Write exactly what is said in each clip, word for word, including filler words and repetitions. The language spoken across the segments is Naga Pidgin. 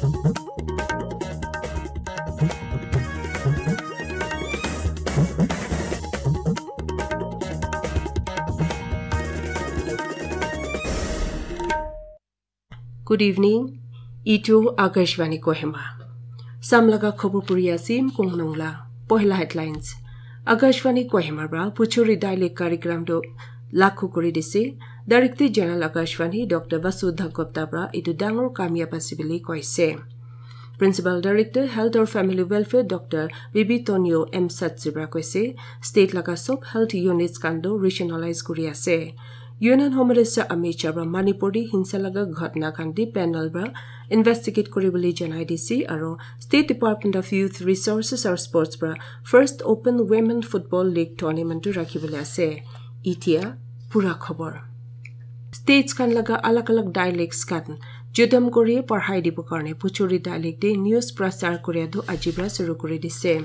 Good evening. Itu Akashvani Kohima. Samlaga khobor puri asim kongnongla. Pohila headlines. Akashvani Kohima pra Puchuri Daily Karikram do lakhu kuri dise. Director General Akashvani Doctor Vasudha Gupta pra itu dangor kamyab ase bili koise. Principal Director Health or Family Welfare Doctor Bibi Tonyo M Satsi pra koise, state laga sob health units khan do rationalize kuri ase. Union Home Minister Amit Shah pra Manipur di hinsa laga ghatna khan di panel pra investigate kuri bili janai dise, aro State Department of Youth Resources or Sports pra first Open Women Football League tournament tu rakhi bili ase. Itia pura khobor. States khan laga alag alag dialects khan jodam kuri parhai dibo karne Puchuri dialect de news prasar kuria tu aji pra suru kuri dise.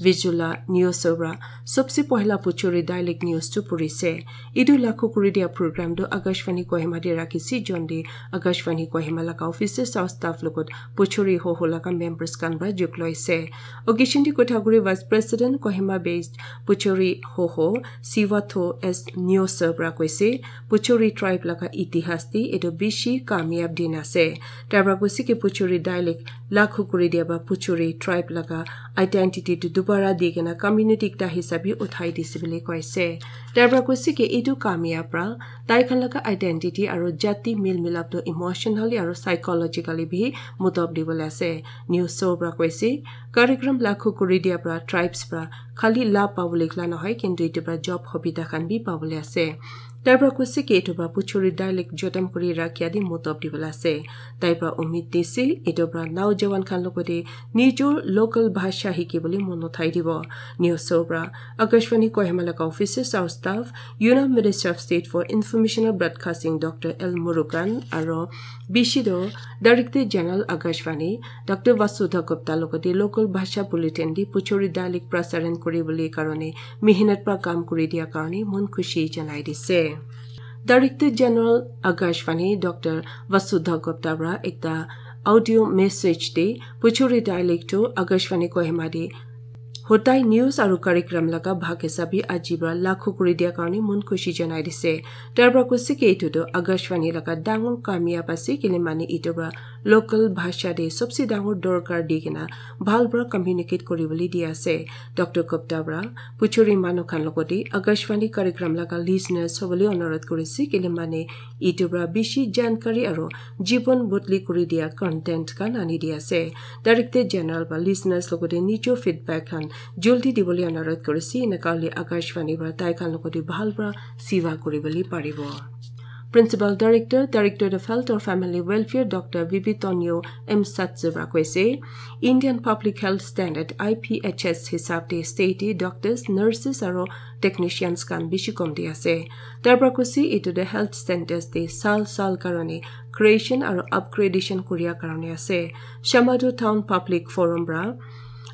Vijula news pra sobse pohila Puchuri dialect news tu puri se. Itu lakhu kuri dia program tu Akashvani Kohima de rakhi si, jon de Akashvani Kohima laga officers or staff logot Puchuri Hoho laga members khan pra juk loi se. Occasion di kotha kuri Vice President Kohima based Puchuri Hoho Siwatho S Nyoso pra koise, Puchuri tribe laga itihas di etu bishi kamyab din ase. Tai pra koise ki Puchuri dialect lakhu kuri dia ba Puchuri tribe laga identity tu dubara di kena community ekta hisabi uthai dise bili koise. Tai pra koise ki etu kamyab pra tai khan laga identity aro jati mil milap tu emotionally aro psychologically bi mutob dibole ase. Nyoso pra koise, Karikram lakhu kuri dia pra tribes pra khali la pabole kla nohoi, kintu itu pra job hobita khan bi pabole ase. Tai pra koise ki itu pra Puchuri dialect jodam kuri rakhia di mutob dibole ase. Tai pra umid dise itu pra naujawan khan logote nijor local bhasha hiki bole mon uthai dibo. Nyoso pra Akashvani Kohima laga officers or staff, Union Minister of State for Information and Broadcasting Doctor L Murugan aro bishi do Director General Akashvani Doctor Vasudha Gupta logote local bhasha bulletin di Puchuri dialect prasaran kuri bole karone mehnat pra kam kuri dia karone mon khushi janai dise. Director General Akashvani Doctor Vasudha Gupta pra ekta audio message de Puchuri dialect tu Akashvani Kohima de hotai news aru karikram laga bhag hisabi aji pra lakhu kuri dia karne mon khushi janai dise. Tai pra koise ki itu tu Akashvani laga dangor kamyab ase, kile mane itu pra local bhasha de sobse dangor dorkar di kena bhal pra communicate kuri bole di ase. Doctor Gupta pra Puchuri manu khan logote Akashvani karikram laga listeners hobole onurodh kuri se, kile mane itu pra bishi jankari aro jibon bodli kuri dia content khan ani di ase. Director General pra listeners logote nijor feedback khan joldi dibole onurodh kuri se, eneka hole Akashvani pra tai khan logote bhal pra siva kuri bole paribo. Principal Director, Directorate of Health or Family Welfare, Doctor Vivi Tonyo M Satsu pra koise, Indian Public Health Standard, I P H S, hisab de state doctors, nurses aro technicians khan bishi kom di ase. Tai pra koise itu de health centers de sal sal karone creation aro upgradation kuria karone ase. Shamadu Town Public Forum pra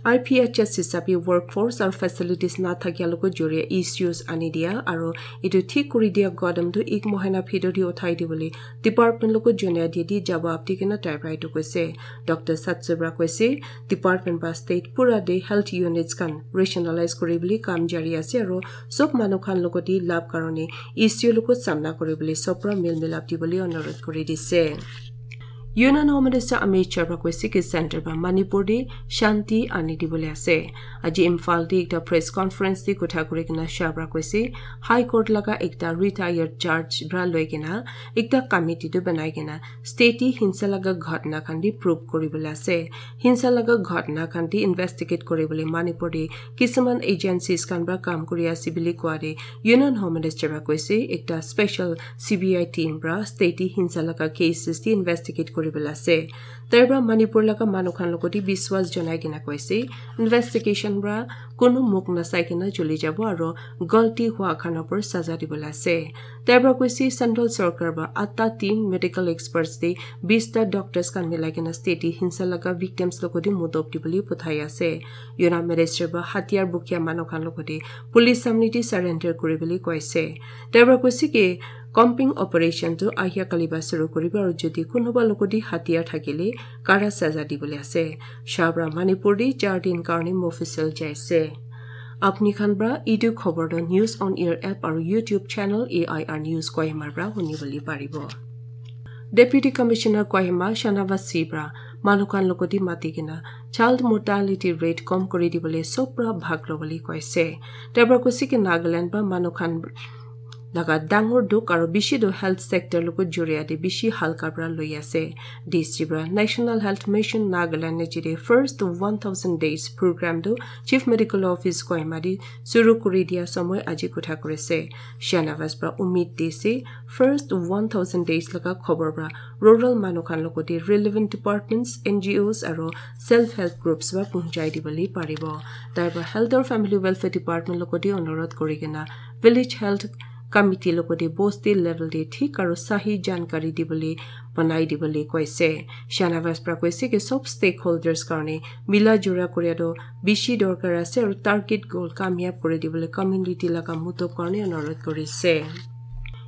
I P H S hisabi workforce aru facilities na thakia logo joria issues ani dia aru etu thik kuri dia kadam tu ek mohina bhitor te uthai dibole department logo jonia dia di jawab di kena tai pra etu koise. Doctor Satsubra koise department pra state pura te health units khan rationalize kuri bole kam jari ase aru sob manu khan logo te lab karone issue logo samna kuri bole sob pra mil milap dibole onurodh kuri dise. Union Home Minister Amit Shah pra koise ki center pra Manipur te shanti ani dibole ase. Aji Imphal te ekta press conference te kotha kuri kena Shah pra koise High Court laga ekta retired judge pra loi kena ekta committee tu banai kena state te hinsa laga ghatna khan te prove kuri bole ase. Hinsa laga ghatna khan te investigate kuri bole Manipur te kisuman agencies khan pra kam kuri ase bole koa te Union Home Minister pra koise ekta special C B I team pra state te hinsa laga cases te investigate kuri bole ase. Tai pra Manipur laga manu khan logo te biswas janai kena koise investigation pra kunu muk nasai kena chuli jabo aru galti hua khan opor saza dibole ase. Tai pra koise central sorkar pra atta team medical experts te bista doctors khan milai kena state te hinsa laga victims logo te mudop dibole puthai ase. Union Minister pra hatiyar bukia manu khan logo te police samne te surrender kuri bole koise. Tai pra koise ki Combing operation tu ahia kali ba suru kuribo aru jodi kunuba logoti hatiyar thakile kara saza dibole ase. Shabra Manipur di char din karne Mofussil jaise. Apni khan pra etu khobor tu News on Air app aru YouTube channel A I R News Kohima pra huni bole paribo. Deputy Commissioner Kohima Shanavas Singh pra manu khan logoti mati kena child mortality rate kom kuri dibole sob pra bhag lobole koise. Tai pra koise ki Nagaland pra manu khan laga dangor dukh aru bishi tu health sector logot joria te bishi halka pra loi ase. D C pra National Health Mission Nagaland ne jide first one thousand days program tu Chief Medical Office Kohima di suru kuri dia samoi aji kotha kurise. Shanavas pra umid dise first one thousand days laga khobor pra rural manu khan logote relevant departments, N G Os aru self help groups pra punchai dibole paribo. Tai pra Health aru Family Welfare Department logote onurodh kuri kena village health committee logote bosti level te thik aru sahi jankari dibole banai dibole koise. Shanavas pra koise ki sob stakeholders karne mila jura koria tu bishi dorkar ase aru target goal kamyab kuri dibole community laga mutob karne onurodh kurise.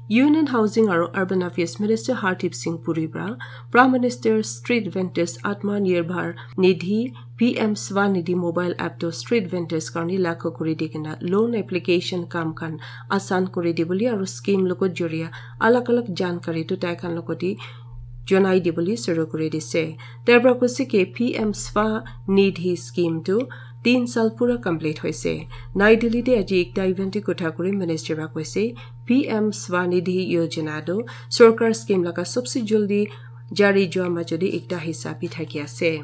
Union Housing aru Urban Affairs Minister Hardeep Singh Puri pra Prime Minister Street Vendors Atma Nirbhar Nidhi P M Swanidhi mobile app to street vendors karne lagu kuri di kena loan application kam khan asan kuri di bole aru scheme logot joria alag alag jankari tu tai khan logote jonai di bole suru kuri dise. Tai pra koise ki P M Swanidhi scheme tu tin sal pura complete hoise. Nai Delhi te aji ekta event te kotha kuri minister pra koise P M Swanidhi Yojana tu sorkar scheme laga sobse jaldi jari jua majo te ekta hissa bi thaki ase.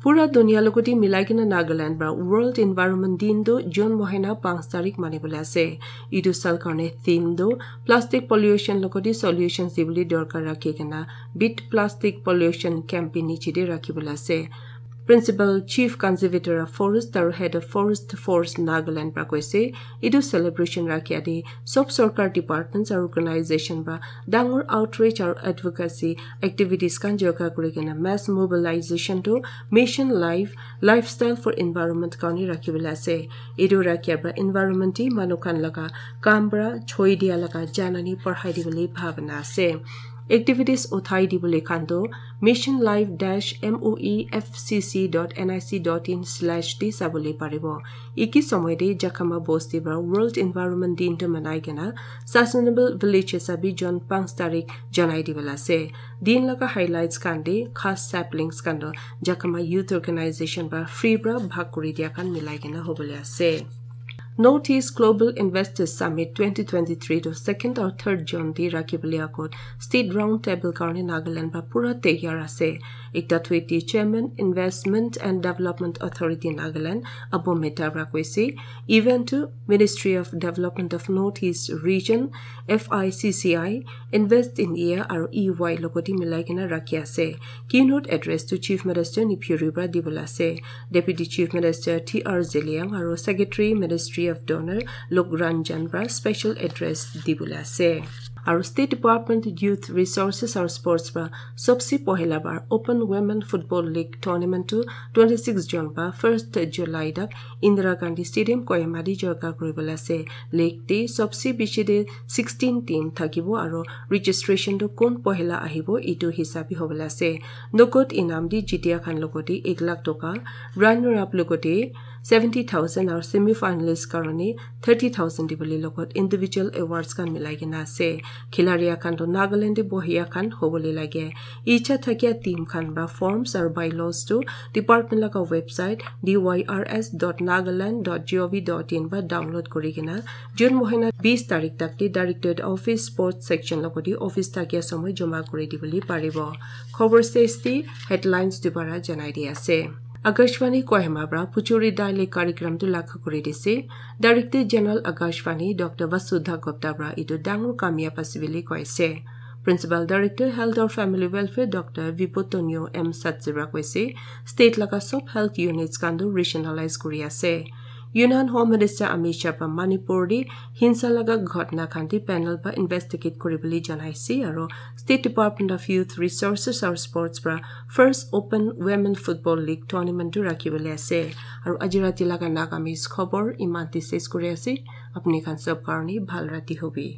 Pura dunia logote milai kena Nagaland pra World Environment Din tu June mohina panch tarik mani bole ase. Etu sal karne theme tu plastic pollution logote solutions dibole dorkar rakhi kena Beat Plastic Pollution campaign niche te rakhi bole ase. Principal Chief Conservator of Forest aru Head of Forest Force Nagaland pra koise, etu celebration rakhia te sob sorkar departments aru organization pra dangor outreach aru advocacy activities khan joga kuri kena mass mobilization to Mission Life, Lifestyle for Environment karne rakhi bole ase. Etu rakhia pra environment te manu khan laga kam pra choi dia laga janani padhai dibole bhabana ase. Activities uthai dibole khan tu mission life dash moefcc dot nic dot in slash te sabole paribo. Iki somoy te Jakhama bosti pra World Environment Din tu manai kena Sustainable Village hisabe June panch tarik janai dibole ase. Din laga highlights khan te khas saplings khan tu Jakhama Youth Organization pra free pra bhag kuri dia khan milai kena hobole ase. North East Global Investors Summit twenty twenty-three to second or third June te rakhi bole akot State Round Table karne Nagaland pra pura taiyar ase. Ekta tweet te Chairman Investment and Development Authority Nagaland Abu Mehta pra koise, event tu Ministry of Development of North East Region, F I C C I, Invest in India aru E Y logote milai kena rakhi ase. Keynote address tu Chief Minister Neiphiu Rio pra dibole ase. Deputy Chief Minister T R Zeliang aru Secretary Ministry of Donor Lok Ranjan pra special address dibole ase. Aru State Department Youth Resources aru Sports pra sobse pohila bar Open Women Football League Tournament tu twenty-six June pra first July tak Indira Gandhi Stadium Kohima te joga kuri bole ase. League te sobse bishi te sixteen team thakibo aru registration tu kun pohila ahibo etu hisabe hobole ase. Nogot inam te jitia khan logote ek lakh toka, runner up logote seventy thousand aru semi finalist karne thirty thousand dibole logot individual awards khan milai kena ase. Khilaria khan tu Nagaland te bohia khan hobole lage. Icha thakia team khan pra forms aru bylaws tu department laga website D Y R S dot nagaland dot gov dot in pra download kuri kena June mohina bis tarik tak te Directorate Office Sports Section logote office thakia somoy joma kuri dibole paribo. Khobor stage te headlines dubara janai di ase. Akashvani Kohima pra Puchuri Daily Karikram tu lagu kuri dise. Director General Akashvani Doctor Vasudha Gupta pra etu dangor kamyab ase bole koise. Principal Director Health or Family Welfare Doctor Vibhutonio M Satsi pra koise, state laga sob health units khan tu rationalize kuri ase. Union Home Minister Amit Shah pra Manipur te hinsa laga ghotna khan te panel pra investigate kuri bole janai ase aru State Department of Youth Resources aru Sports pra first Open Women Football League Tournament tu rakhi bole ase. Aru aji rati laga Nagamese khobor iman te ses kuri ase. Apni khan sob karne bhal rati hobi.